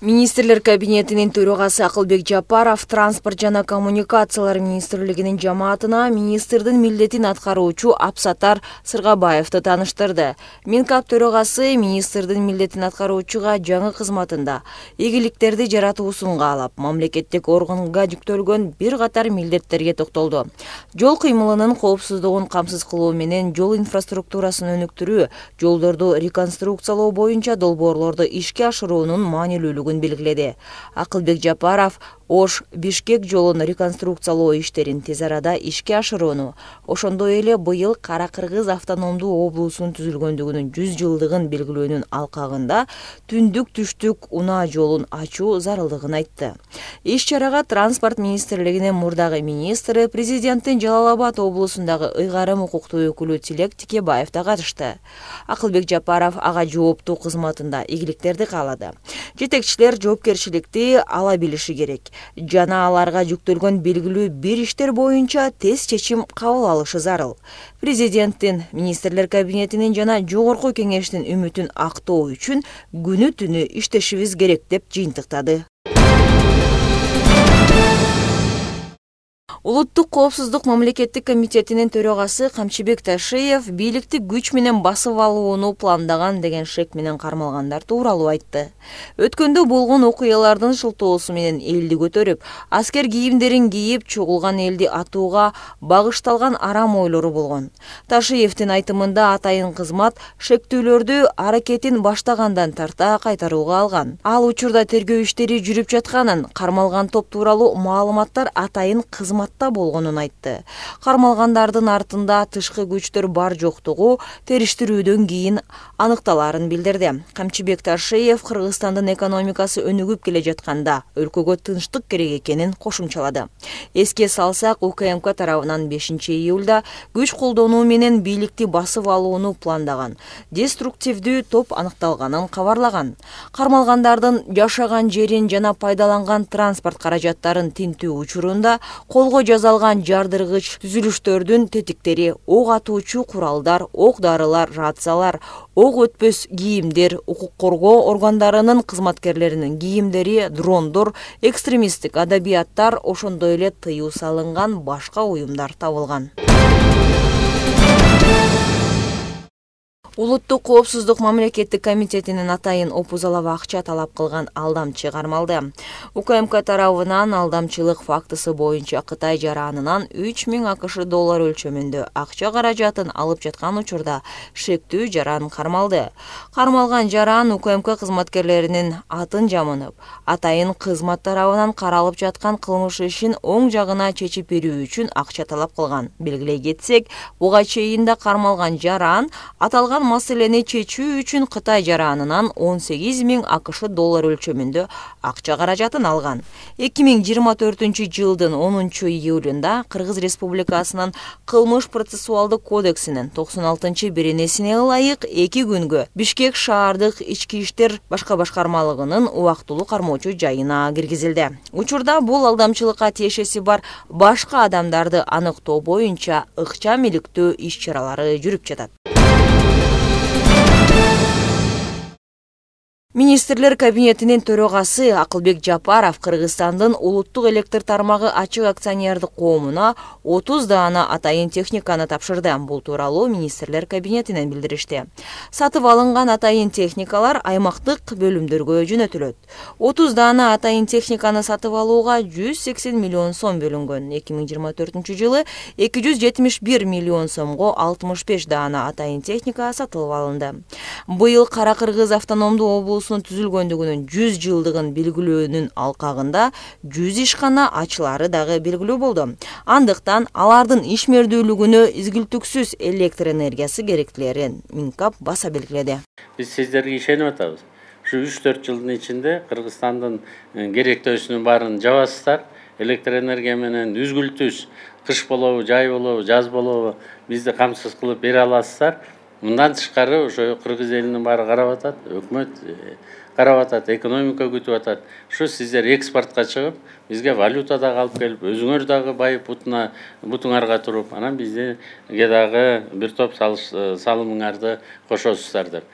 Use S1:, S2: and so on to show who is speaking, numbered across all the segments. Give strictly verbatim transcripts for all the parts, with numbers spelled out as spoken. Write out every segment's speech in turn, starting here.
S1: Министрлер кабинетинин төрагасы Акылбек Жапаров транспорт жана коммуникациялар министрлигинин жамаатына министрдин милдетин аткаруучу Абсатар Сыргабаевди тааныштырды. Минкап төрагасы министрдин милдетин аткаруучуга жаңы кызматында ийгиликтерди жаратуусун каалап, мамлекеттик органга жүктөлгөн бир катар милдеттерге токтолду. Жол кыймылынын коопсуздугун камсыз кылуу менен жол инфраструктурасын өнүктүрүү, жолдорду реконструкциялоо боюнча долбоорлорду ишке ашыруунун маанилүүлүгүн белгиледи. Акылбек Жапаров Ош-Бишкек жолун реконструкциялоо иштерин тез арада ишке ашырууну, ошондой эле быйыл Кара-Кыргыз автономдуу облусунун түзүлгөндүгүнүн жүз жылдыгын белгилөөнүн алкагында түндүк-түштүк унаа жолун ачуу зарылдыгын айтты. Иш-чарага транспорт министрлигинин мурдагы министри, президенттин Жалал Абад облусундагы ыйгарым укуктуу өкүлү Тилек Тикебаев да катышты. Акылбек Жапаров ага жооптуу кызматында ийгиликтерди каалады. Жетекчилер жоопкерчиликти ала билиши керек жана аларга жүктөлгөн белгилүү бир иштер боюнча тез чечим кабыл алышы зарыл. Президенттин, министрлер кабинетинин жана жогорку кеңештин үмүтүн актоо үчүн күнү түнү иштешибиз керек деп жыйынтыктады. Улуттук коопсуздук мамлекеттик комитетинин төрагасы Камчыбек Ташиев бийликти күч менен басып алууну пландаган деген шек менен кармалгандар тууралуу айтты. Өткөндө болгон окуялардын шылтоосу менен элди көтөрүп, аскер кийимдерин кийип чогулган элди атууга багышталган арам ойлору болгон. Ташиевдин айтымында атайын кызмат шектүүлөрдү аракетин баштагандан тарта кайтарууга алган. Ал учурда тергөө иштери жүрүп жатканын, кармалган топ тууралуу маалыматтар атайын кызмат болгонун айтты. Кармалгандардын артында тышкы күчтөр бар жоктугу териштирүүдөн кийин аныкталарын билдирди. Камчыбек Ташиев Кыргызстандын экономикасы өнүгүп келе жатканда өлкөгө тынчтык керек экенин кошумчалады. Эске салсак, УКМК тарабынан бешинчи июлда күч колдонуу менен бийликти басып алууну пландаган деструктивдүү топ аныкталганын кабарлаган. Кармалгандардын жашаган жерин жана пайдаланган транспорт каражаттарын тинтүү учурунда колго жазалган жардыргыч түзүлүштөрдүн тетиктери, ок атуучу куралдар, ок-дарылар, рациялар, ок өтпөс кийимдер, укук коргоо органдарынын кызматкерлеринин кийимдери, дрондор, экстремисттик адабияттар, ошондой эле тыюу салынган башка уюмдар табылган. Улуттук коопсуздук мамлекеттик комитетинин атайын опузалава акча талап кылган алдамчы кармалды. УКМК тарабынан алдамчылык фактысы боюнча Кытай жаранынан үч миң АКШ доллар өлчөмүндө акча каражатын алып жаткан учурда шектүү жаран кармалды. Кармалган жаран УКМК кызматкерлеринин атын жамынып, атайын кызмат тарабынан каралып жаткан кылмыш ишин оң жагына чечип берүү үчүн акча талап кылган. Белгилей кетсек, буга чейин да кармалган жаран аталган маселени чечүү үчүн Кытай жаранынан он сегиз миң АКШ доллар өлчөмүндө акча каражатын алган. эки миң жыйырма төртүнчү жылдын онунчу июлунда Кыргыз Республикасынын кылмыш процессуалдык кодексинин токсон алтынчы беренесине ылайык эки күнгө Бишкек шаардык ички иштер башка башкармалыгынын убактылуу кармоочу жайына киргизилди. Учурда бул алдамчылыкка тиешеси бар башка адамдарды аныктоо боюнча ыкчам иликтөө иш-чаралары жүрүп жатат. Министрлер кабинетинин төрагасы Акылбек Жапаров Кыргызстандын улуттук электр тармагы ачык акционердик коомуна отуз даана атайын техниканы тапшырды. Бул тууралуу министрлер кабинетинен билдиришти. Сатып алынган атайын техникалар аймактык бөлүмдөргө жөнөтүлөт. отуз даана атайын техниканы сатып алууга жүз сексен миллион сом бөлүнгөн. эки миң жыйырма төртүнчү жылы эки жүз жетимиш бир миллион сомго алтымыш беш даана атайын техника сатылып алынды. Быйыл Кара-Кыргыз автономдуу облусунун түзүлгөндүгүнүн жүз жылдыгын белгилөөнүн алкагында жүз ишкана ачылары дагы белгилүү болду. Андыктан алардын ишмердүүлүгүнө изгилтүксүз электр энергиясы керектилерин Минкап баса белгиледи.
S2: Биз сиздерге ишенип атабыз. Ушу үч төрт жылдын ичинде Кыргызстандын керектөөсүнүн баарын жабасыздар. Электр энергия менен үзгүлтүз, кыш болобу, жай болобу, жаз болобу бизди камсыз кылып бере аласыздар. Мындан тышкары ошо кыргыз элинин баары карап атат, өкмөт карап атат, экономика күтүп атат. Ушу сиздер экспортко чыгып, бизге валюта дагы алып келип, өзүңөр дагы байып бутуна бутуңарга туруп, анан бизге дагы бир топ салымыңарды кошосуздар деп.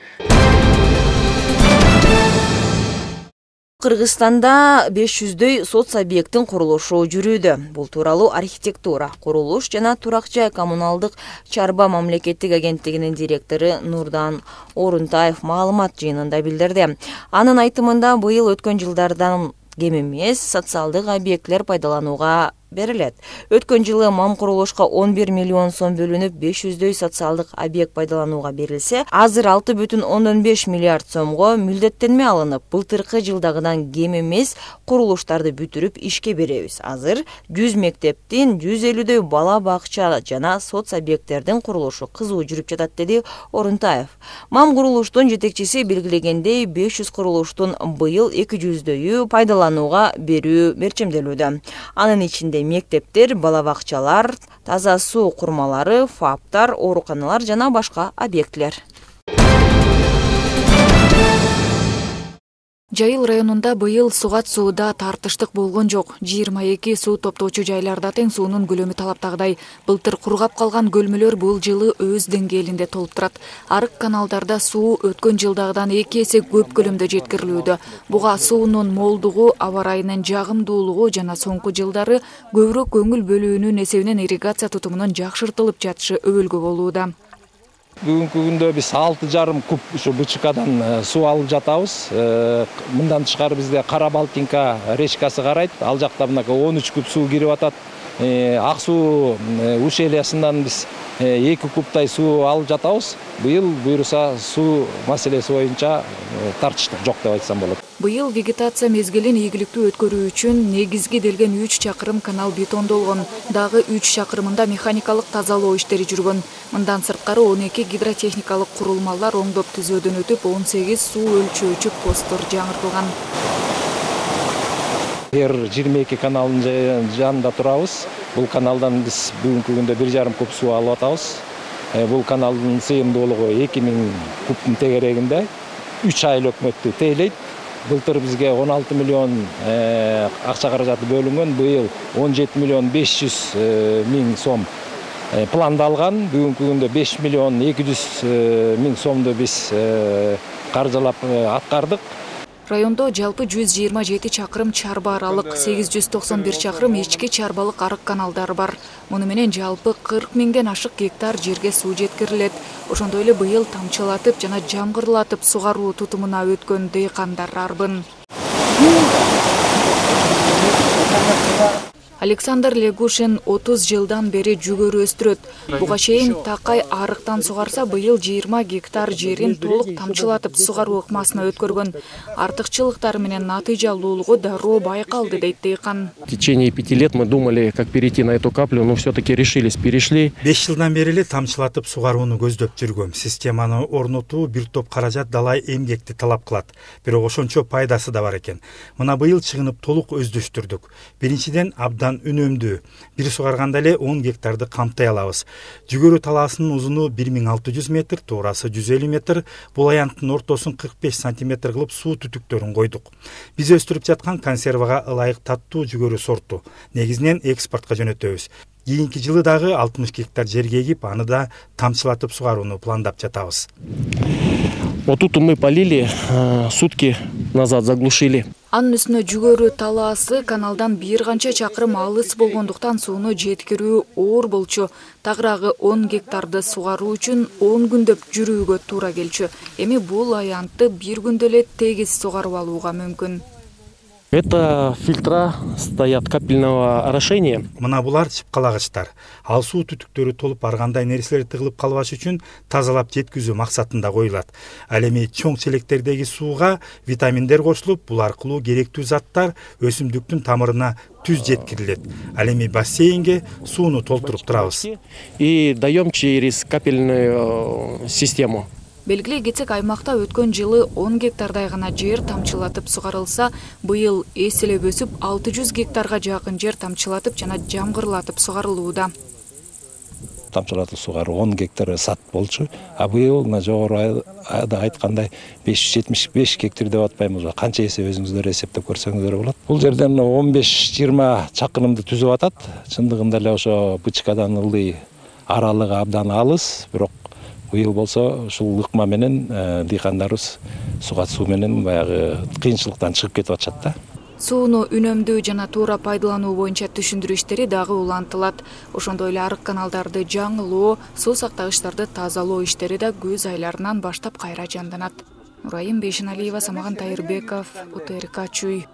S1: Кыргызстанда беш жүздөй соц объекттин курулушу жүрүүдө. Бул тууралуу архитектура, курулуш жана турак жай коммуналдык чарба мамлекеттик агенттигинин директору Нурдан Орунтаев маалымат жыйынында билдирди. Анын айтымында быйыл өткөн жылдардан кем эмес социалдык объектлер пайдаланууга берилет. Өткөн жылы мам курулушка он бир миллион сом бөлүнүп, беш жүздөй социалдык объект пайдаланууга берилсе, азыр алты бүтүн ондон беш миллиард сомго мүлдеттенме алынып, былтыркы жылдагыдан кем эмес курулуштарды бүтүрүп ишке беребиз. Азыр жүз мектептин, жүз элүүдөй бала бакча жана соц объекттердин курулушу кызуу жүрүп жатат, деди Орунтаев. Мам курулуштун жетекчиси белгилегендей, беш жүз курулуштун быйыл эки жүздөйү пайдаланууга берүү мерчемделүүдө. Анын ичинде мектептер, бала бакчалар, таза суу курмалары, фаптар, ооруканалар жана башка объектлер.
S3: Жайыл районунда быйыл сугат сууда тартыштык болгон жок. жыйырма эки суу топтоочу жайларда тең суунун көлөмү талаптагыдай. Былтыр кургап калган көлмөлөр бул жылы өз деңгээлинде толуп турат. Арык каналдарда суу өткөн жылдагыдан эки эсе көп көлөмдө жеткирилүүдө. Буга суунун молдугу, аба ырайынын жагымдуулугу жана соңку жылдары көбүрөөк көңүл бөлүүнүн эсебинен ирригация тутумунун жакшыртылып жатышы өбөлгө болууда.
S4: Бүгүнкү күндө биз алты жарым куб ушу БЧКдан суу алып жатабыз. Мындан тышкары бизде Кара Балтинка речкасы карайт. Ал жакта мынакей он үч куб суу кирип атат. Ак суу ущельясынан биз эки кубтай суу алып жатабыз. Быйыл буюрса суу маселеси боюнча тартыштык жок деп айтсам болот.
S3: Быйыл вегетация мезгилин ийгиликтүү өткөрүү үчүн негизги делген үч чакырым канал бетондолгон. Дагы үч чакырымында механикалык тазалоо иштери жүргөн. Мындан сырткары он эки гидротехникалык курулмалар оңдоп түзөөдөн өтүп, он сегиз суу өлчөөчү посттор жаңыртылган.
S4: Эр жыйырма эки каналдын жанында турабыз. Бул каналдан биз бүгүнкү күндө бир жарым куб суу алып атабыз. Бул каналдын сыйымдуулугу эки миң кубтун тегерегинде. үч ай өкмөттү тейлейт. Былтыр бизге он алты миллион акча каражаты бөлүнгөн, быйыл он жети миллион беш жүз миң сом пландалган. Бүгүнкү күндө беш миллион эки жүз миң сомду биз каржылап аткардык.
S3: Райондо жалпы жүз жыйырма жети чакырым чарба аралык, сегиз жүз токсон бир чакырым ички чарбалык арык каналдар бар. Муну менен жалпы кырк миңден ашык гектар жерге суу жеткирилет. Ошондой эле быйыл тамчылатып жана жамгырлатып сугаруу тутумуна өткөн дыйкандар арбын. Александр Легушин отуз жылдан бери жүгөрү өстүрөт. Буга чейин такай арыктан сугарса, быйыл жыйырма гектар жерин толук тамчылатып сугаруу ыкмасына өткөргөн. Артыкчылыктары менен натыйжалуулугу дароо байкалды, дейт дыйкан.
S5: В течение пяти лет мы думали, как перейти на эту каплю, но все-таки решились, перешли.
S6: беш жылдан бери эле тамчылатып сугарууну көздөп жүргөм. Системаны орнотуу бир топ каражат далай эмгекти талап кылат. Бирок ошончо пайдасы да бар экен. Мына быйыл чыгынып толук өздөштүрдүк. Биринчиден абдан үнөмдүү. Бир сугарганда эле он гектарды камтай алабыз. Жүгөрү талаасынын узуну бир миң алты жүз метр, туурасы жүз элүү метр. Бул аянттын ортосун кырк беш сантиметр кылып суу түтүктөрүн койдук. Биз өстүрүп жаткан консервага ылайык таттуу жүгөрү сорту. Негизинен экспортко жөнөтөбүз. Кийинки жылы дагы алтымыш гектар жерге эгип, аны да тамчылатып сугарууну пландап жатабыз.
S5: Вот тут мы полили, сутки назад заглушили.
S3: Анын үстүнө жүгөрү талаасы каналдан бир канча чакырым алыс болгондуктан сууну жеткирүү оор болчу. Тагыраагы он гектарды сугаруу үчүн он күндөп жүрүүгө туура келчү. Эми бул аянтты бир күндө эле тегиз сугарып алууга мүмкүн.
S5: Это фильтра стоят капельного орошения.
S6: Мына булар чыпкалагычтар. Ал суу түтүктөрү толуп барганда нерселер тыгылып калбаш үчүн тазалап жеткизүү максатында коюлат. Ал эми чоң челектердеги сууга витаминдер кошулуп, бул аркылуу керектүү заттар өсүмдүктүн тамырына түз жеткирилет. Ал эми бассейнге сууну толтуруп турабыз.
S5: И даем через капельную систему.
S3: Белгилей кетсек, аймакта өткөн жылы он гектардай гана жер тамчылатып сугарылса, быйыл эселеп өсүп алты жүз гектарга жакын жер тамчылатып жана жамгырлатып сугарылууда.
S4: Тамчылатып сугаруу он гектар сат болчу, а быйыл мына жогору айткандай беш жүз жетимиш беш гектар деп атпаймынбы, канча эсе өзүңүздөр эсептеп көрсөңүздөр болот. Бул жерден он беш жыйырма чакырымды түзүп атат. Чындыгында эле ошо БЧКдан ылдый аралыгы абдан алыс, бирок Быйыл болсо ушул ыкма менен дыйкандарыбыз сугат суу менен баягы кыйынчылыктан чыгып кетип атышат да.
S3: Сууну үнөмдүү жана туура пайдалануу боюнча түшүндүрүү иштери дагы улантылат. Ошондой эле арык каналдарды жаңылоо, суу сактагычтарды тазалоо иштери да күз айларынан баштап кайра жанданат. Нурайым Бейшеналиева, Самаган Тайырбеков, УТРК Чүй.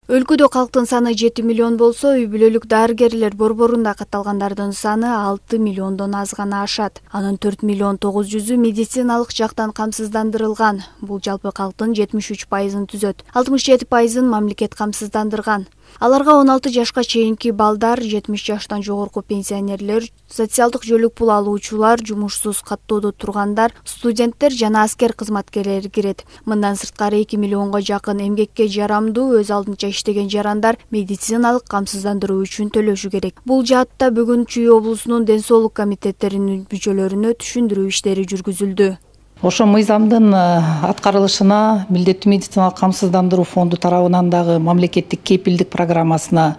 S7: Өлкөдө калктын саны жети миллион болсо, үй бүлөлүк дарыгерлер борборунда катталгандардын саны алты миллиондон аз гана ашат. Анын төрт миллион тогуз жүзү медициналык жактан камсыздандырылган. Бул жалпы калктын жетимиш үч пайызын түзөт. алтымыш жети пайызын мамлекет камсыздандырган. Аларга он алты жашка чейинки балдар, жетимиш жаштан жогорку пенсионерлер, социалдык жөлүк пул алуучулар, жумушсуз каттоодо тургандар, студенттер жана аскер кызматкерлери кирет. Мындан сырткары эки миллионго жакын эмгекке жарамдуу, өз алдынча иштеген жарандар медициналык камсыздандыруу үчүн төлөшү керек. Бул жаатта бүгүн Чүй облусунун ден соолук комитеттеринин мүчөлөрүнө түшүндүрүү иштери жүргүзүлдү.
S8: Ошо мыйзамдын аткарылышына милдеттүү медициналык камсыздандыруу фонду тарабынан дагы мамлекеттик кепилдик программасына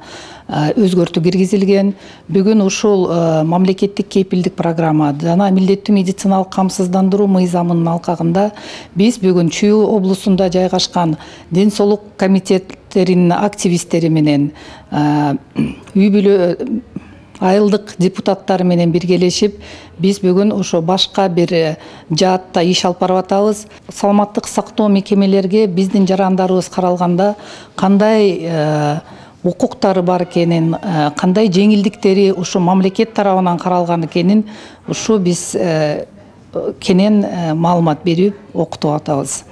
S8: өзгөртүү киргизилген. Бүгүн ушул мамлекеттик кепилдик программа жана милдеттүү медициналык камсыздандыруу мыйзамынын алкагында биз бүгүн Чүй облусунда жайгашкан ден соолук комитеттеринин активисттери менен үй бүлө айылдык депутаттары менен биргелешип, биз бүгүн ошо башка бир жаатта иш алып барып атабыз. Саламаттык сактоо мекемелерге биздин жарандарыбыз каралганда кандай укуктары бар экенин, кандай жеңилдиктери ушу мамлекет тарабынан каралган экенин ушу биз кенен маалымат берип окутуп атабыз.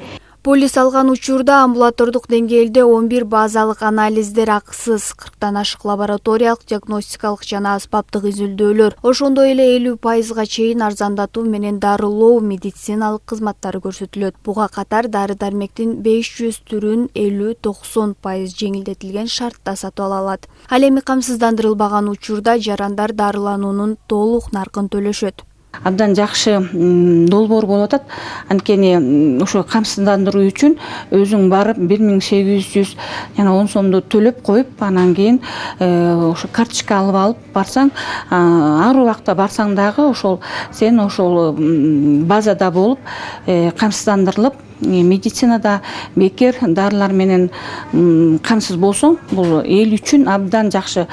S7: Полис алган учурда амбулатордук деңгээлде он бир базалык анализдер акысыз, кырктан ашык лабораториялык, диагностикалык жана аспаптык изилдөөлөр, ошондой эле элүү пайызга чейин арзандатуу менен дарылоо медициналык кызматтары көрсөтүлөт. Буга катар дары-дармектин беш жүз түрүн элүү токсон пайыз жеңилдетилген шартта сатып ала алат. Ал эми камсыздандырылбаган учурда жарандар дарылануунун толук наркын төлөшөт.
S9: Абдан жакшы долбоор болуп атат. Анткени ошо камсыздандыруу үчүн өзүң барып бир миң сегиз жүз жана он сомду төлөп коюп, анан кийин ошо карточка алып алып барсаң, ар убакта барсаң дагы ошол сен ошол базада болуп камсыздандырылып, медицинада бекер дарылар менен камсыз болсоң, бул эл үчүн абдан жакшы.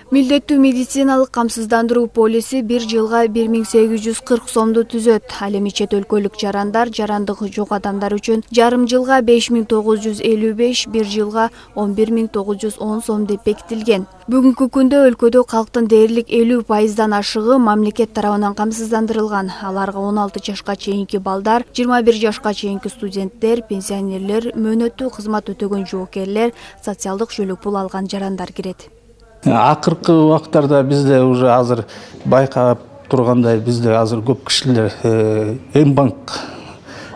S7: Милдеттүү медициналык камсыздандыруу полиси бир жылга бир миң сегиз жүз кырк сомду түзөт. Ал эми чет өлкөлүк жарандар, жарандыгы жок адамдар үчүн жарым жылга беш миң тогуз жүз элүү беш, бир жылга он бир миң тогуз жүз он сом деп бекитилген. Бүгүнкү күндө өлкөдө калктын дээрлик элүү пайыздан ашыгы мамлекет тарабынан камсыздандырылган. Аларга он алты жашка чейинки балдар, жыйырма бир жашка чейинки студенттер, пенсионерлер, мөөнөттүү кызмат өтөгөн жоокерлер, социалдык жөлөк пул алган жарандар кирет.
S10: Акыркы убактарда бизде уже азыр байкап тургандай, бизде азыр көп кишилер М-банк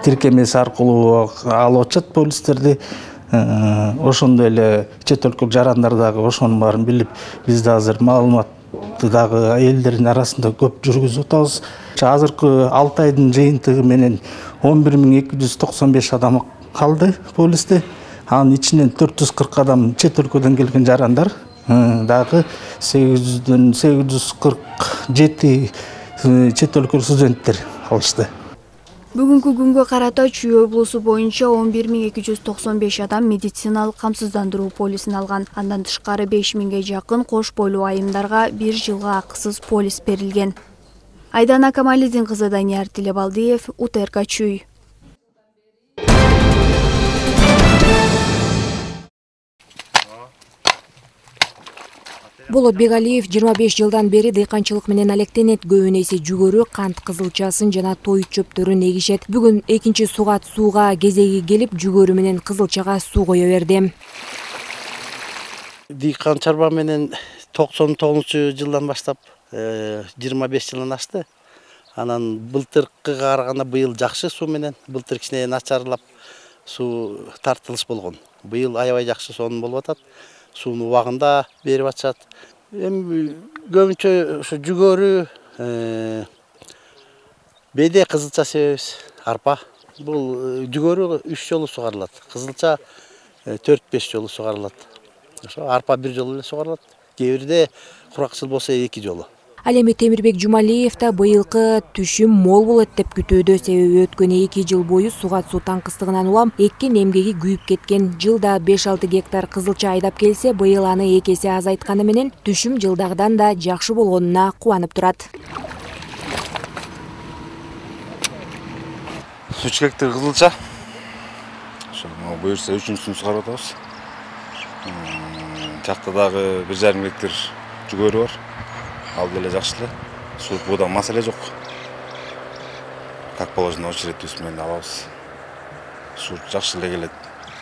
S10: тиркемеси аркылуу алып атышат полистерди. Ошондой эле чет өлкөлүк жарандар дагы ошонун баарын билип, бизде азыр маалыматты дагы элдердин арасында көп жүргүзүп атабыз. Азыркы алты айдын жыйынтыгы менен он бир миң эки жүз токсон беш адам калды полисте. Анын ичинен төрт жүз кырк адам чет өлкөдөн келген жарандар. Дагы сегиз жүздөн сегиз жүз кырк жети чет өлкөлүк студенттер алышты.
S7: Бүгүнкү күнгө карата Чүй облусу боюнча он бир миң эки жүз токсон беш адам медициналык камсыздандыруу полисин алган. Андан тышкары беш миңге жакын кош бойлуу айымдарга бир жылга акысыз полис берилген. Айдана Камалидин кызы Данияр Тилебалдиев, УТРК Чүй.
S11: Болот Бегалиев жыйырма беш жылдан бери дыйканчылык менен алектенет. Көбүнесе жүгөрү, кант кызылчасын жана той чөптөрүн эгишет. Бүгүн экинчи сугат сууга кезеги келип, жүгөрү менен кызылчага суу кое берди.
S12: Дыйкан чарба менен токсон тогузунчу жылдан баштап жыйырма беш жылдан ашты. Анан былтыркыга караганда быйыл жакшы суу менен, былтыр кичине начарлап суу тартылыш болгон. Быйыл аябай жакшы сонун болуп атат. Сууну убагында берип атышат. Эми көбүнчө ошо жүгөрү, беде кызылча себебиз, арпа. Бул жүгөрү үч жолу сугарылат, кызылча төрт беш жолу сугарылат. Ошо арпа бир жолу эле сугарылат. Кээ бирде куракчыл болсо эки жолу.
S11: Ал эми Темирбек Жумалиев да быйылкы түшүм мол болот деп күтүүдө, себеби өткөн эки жыл бою сугат суу таңкыстыгынан улам эккен эмгеги күйүп кеткен. Жылда беш алты гектар кызылча айдап келсе, быйыл аны эки эсе азайтканы менен түшүм жылдагыдан да жакшы болгонуна кубанып турат.
S13: үч гектар кызылча. Ошол буюрса үчүнчүсүн сугарып атабыз. Жакта дагы бир жарым гектар жүгөрү бар. Ал деле жакшы эле. Суу буудан маселе жок. Как положено очередь менен алабыз. Суу жакшы эле келет.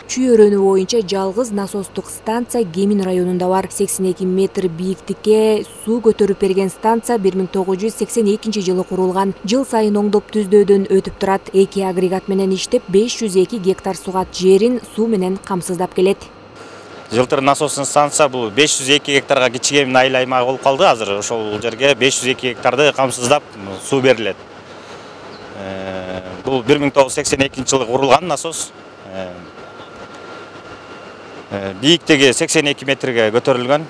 S11: Чүй-өрөнү боюнча жалгыз насостук станция Кемин районунда бар. сексен эки метр бийиктикке суу көтөрүп берген станция бир миң тогуз жүз сексен экинчи жылы курулган. Жыл сайын оңдоп түздөөдөн өтүп турат. Эки агрегат менен иштеп беш жүз эки гектар сугат жерин суу менен камсыздап келет.
S14: Жылтыр насостун станция бул беш жүз эки гектарга кичигем айыл аймагы болуп калды. Азыр ошол жерге беш жүз эки гектарды камсыздап суу берилет. Бул бир миң тогуз жүз сексен экинчи жылы курулган насос. Бийиктиги сексен эки метрге көтөрүлгөн.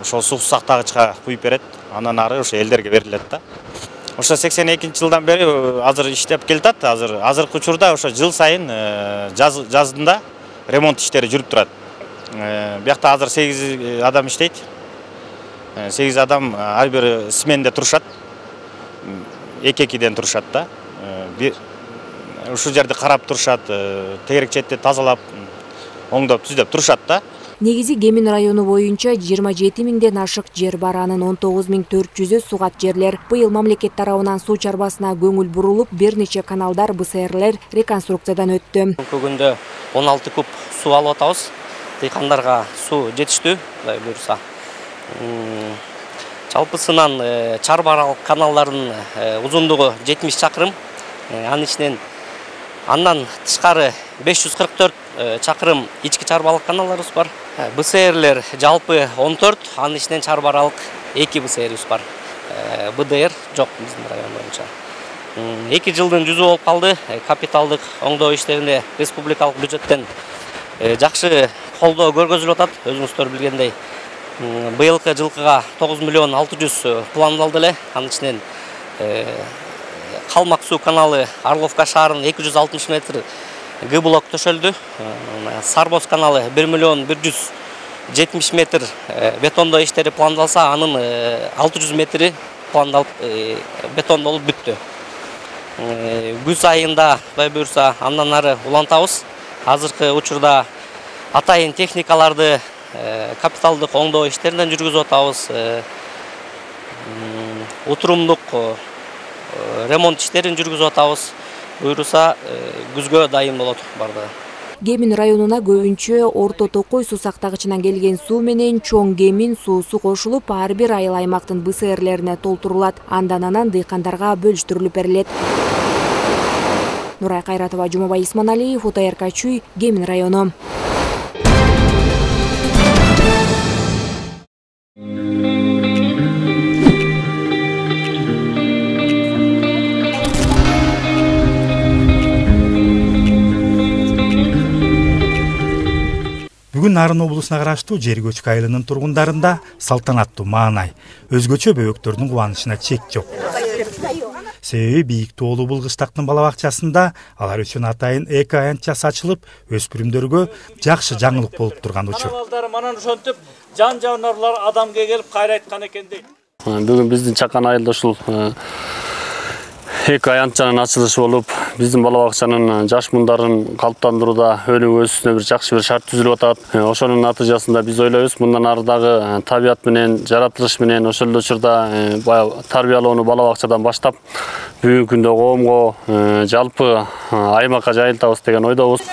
S14: Ошол суу сактагычка куюп берет. Андан ары ошо элдерге берилет да. Ошо сексен экинчи жылдан бери азыр иштеп келатат. Азыр азыркы учурда ошо жыл сайын жаз жазында ремонт иштери жүрүп турат. Биякта азыр сегиз адам иштейт. сегиз адам ар бир сменде турушат. эки-экиден турушат да. Ушул жерди карап турушат, тегерек четти тазалап, оңдоп түздөп турушат да.
S11: Негизи Кемин району боюнча жыйырма жети миңден ашык жер бар, анын он тогуз миң төрт жүзү сугат жерлер. Быйыл мамлекет тарабынан суу чарбасына көңүл бурулуп, бир нече каналдар, бэ эс эрлер реконструкциядан өттү.
S15: Бүгүндө он алты куб суу алып атабыз. Дыйкандарга суу жетиштүү, Кудай буйрса. Жалпысынан чарбаралык каналдардын узундугу жетимиш чакырым. Анын ичинен андан тышкары беш жүз кырк төрт чакырым ички чарбалык каналдарыбыз бар. бэ эс эрлер жалпы он төрт, анын ичинен чарбаралык эки бэ эс эрибиз бар. бэ дэ эр жок биздин район боюнча. эки жылдын жүзү болуп калды. Капиталдык оңдоо иштеринде республикалык бюджеттен жакшы колдоо көргөзүлүп атат. Өзүңүздөр билгендей, быйылкы жылкыга тогуз миллион алты жүз пландалды эле. Анын ичинен Калмак суу каналы Орловка шаарынын эки жүз алтымыш метр Г блок төшөлдү. Сарбоз каналы бир миллион бир жүз жетимиш метр бетондоо иштери пландалса, анын алты жүз метри пландалып бетондолуп бүттү. Күз айында Кудай буйрса андан ары улантабыз. Азыркы учурда атайын техникаларды капиталдык оңдоо иштеринен жүргүзүп атабыз. Отурумдук ремонт иштерин жүргүзүп атабыз. Буйруса күзгө дайын болот бардыгы.
S11: Кемин районуна көбүнчө Орто Токой суу сактагычынан келген суу менен Чоң Кемин суусу кошулуп, ар бир айыл аймактын бэ эс эрлерине толтурулат. Андан анан дыйкандарга бөлүштүрүлүп берилет. Нурай Кайратова, Жумабай Исманалиев, О Т Р К Чүй, Кемин району.
S6: Бүгүн Нарын облусуна караштуу Жергөчкү айылынын тургундарында салтанаттуу маанай, өзгөчө бөбөктөрдүн кубанычына чек жок. Себеби бийик тоолуу бул кыштактын бала бакчасында алар үчүн атайын эки аянтчасы ачылып, өспүрүмдөргө жакшы жаңылык болуп турган учур.
S16: Манан ошентип жан жаныбарлар адамга келип кайрайткан экен дейт.
S2: Бүгүн биздин чакан айылда ушул эки аянтчанын ачылышы болуп, биздин бала бакчанын жаш мундарын калыптандырууда өнүгүү өсүүсүнө бир жакшы бир шарт түзүлүп атат. Ошонун натыйжасында биз ойлойбуз, мындан ары дагы табият менен, жаратылыш менен ошол эле учурда баягы тарбиялоону бала бакчадан баштап, бүгүнкү күндө коомго, жалпы аймакка жайылтабыз деген ойдобуз.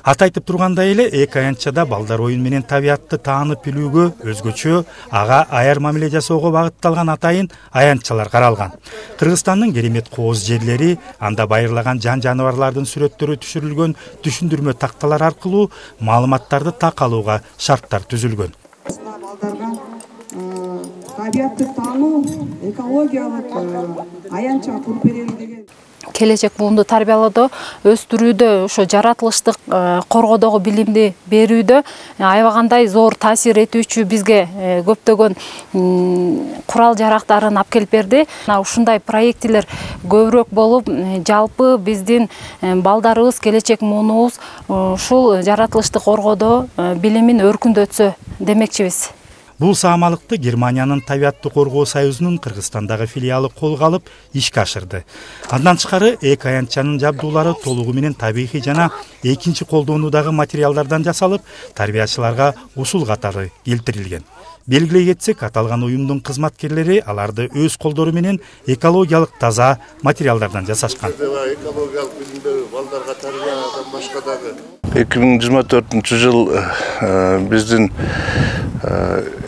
S6: Аты айтып тургандай эле, эки аянтчада балдар оюн менен табиятты таанып билүүгө, өзгөчө ага аяр мамиле жасоого багытталган атайын аянтчалар каралган. Кыргызстандын керемет кооз жерлери, анда байырлаган жан жаныбарлардын сүрөттөрү түшүрүлгөн түшүндүрмө такталар аркылуу маалыматтарды так алууга шарттар түзүлгөн.
S17: Табиятты таануу, экологиялык аянтча куруп берели деген
S8: келечек буунду тарбиялоодо, өстүрүүдө, ошо жаратылыштык коргоодогу билимди берүүдө аябагандай зор таасир этүүчү бизге көптөгөн курал жарактарын алып келип берди. Ушундай проектилер көбүрөөк болуп, жалпы биздин балдарыбыз, келечек муунубуз ушул жаратылышты коргоодо билимин өркүндөтсө демекчибиз.
S6: Бул саамалыкты Германиянын Табиатты коргоо союзунун Кыргызстандагы филиалы колго алып ишке ашырды. Андан тышкары эки аянтчанын жабдуулары толугу менен табигый жана экинчи колдонуудагы материалдардан жасалып, тарбиячыларга усул катары келтирилген. Белгилей кетсек, аталган уюмдун кызматкерлери аларды өз колдору менен экологиялык таза материалдардан жасашкан.
S17: Экологиялык билимдер балдарга тарбиядан башка дагы
S18: эки миң жыйырма төртүнчү жыл биздин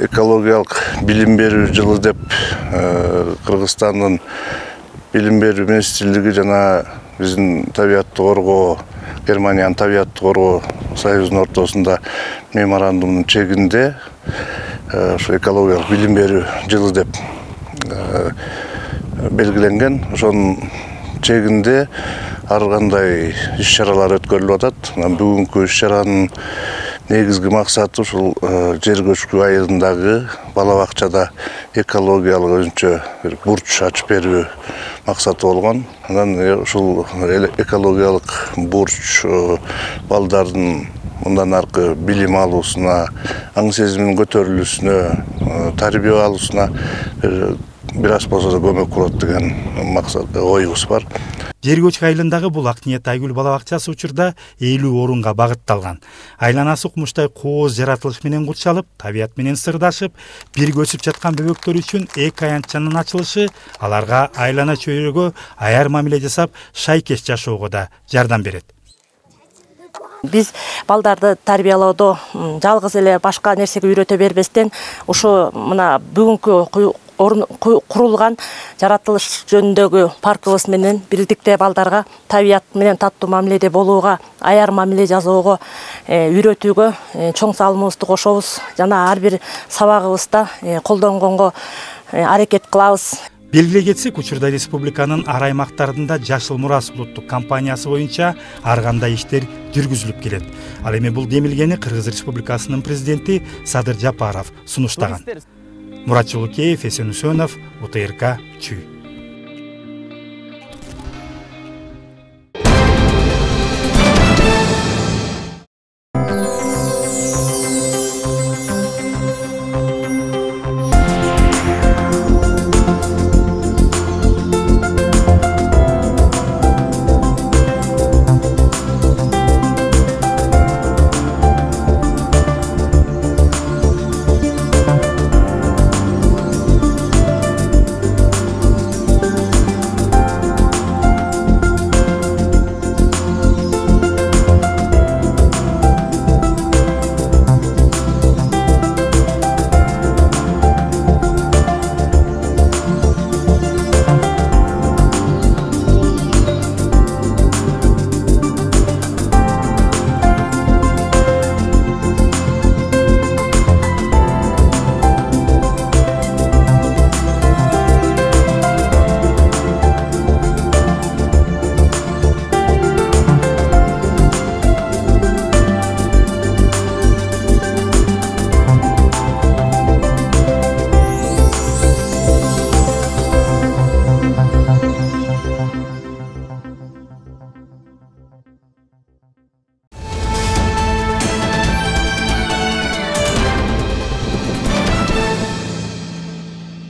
S18: экологиялык билим берүү жылы деп Кыргызстандын билим берүү министрлиги жана биздин табиатты коргоо, Германиянын табиатты коргоо союзунун ортосунда меморандумдун чегинде ошо экологиялык билим берүү жылы деп белгиленген. Ошонун чегинде ар кандай иш-чаралар өткөрүлүп атат. Бүгүнкү иш-чаранын негизги максаты ушул жер көчкү айылындагы бала бакчада экологиялык өзүнчө бир бурч ачып берүү максаты болгон. Анан ушул экологиялык бурч балдардын мындан аркы билим алуусуна, аң сезиминин көтөрүлүүсүнө, тарбия алуусуна бир аз болсо да көмөк болот деген максат, оюбуз бар.
S6: Жер көчкү айылындагы бул Ак ниет айгүл бала бакчасы учурда элүү орунга багытталган. Айланасы кумуштай кооз жаратылыш менен курчалып, табият менен сырдашып, бирге өсүп жаткан бөбөктөр үчүн эки аянтчанын ачылышы аларга айлана чөйрөгө аяр мамиле жасап, шайкеш жашоого да жардам берет.
S19: Биз балдарды тарбиялоодо жалгыз эле башка нерсеге үйрөтө бербестен, ушу мына бүгүнкү курулган жаратылыш жөнүндөгү паркыбыз менен бирдикте балдарга табият менен таттуу мамиледе болууга, аяр мамиле жасоого үйрөтүүгө чоң салымыбызды кошобуз жана ар бир сабагыбызда колдонгонго аракет кылабыз.
S6: Белгилей кетсек, учурда республиканын ар аймактарында Жашыл Мурас улуттук компаниясы боюнча ар кандай иштер жүргүзүлүп келет. Ал эми бул демилгени Кыргыз Республикасынын президенти Садыр Жапаров сунуштаган. Мурат Жолукеев, Эсен Үсөнов, УТРК Чүй.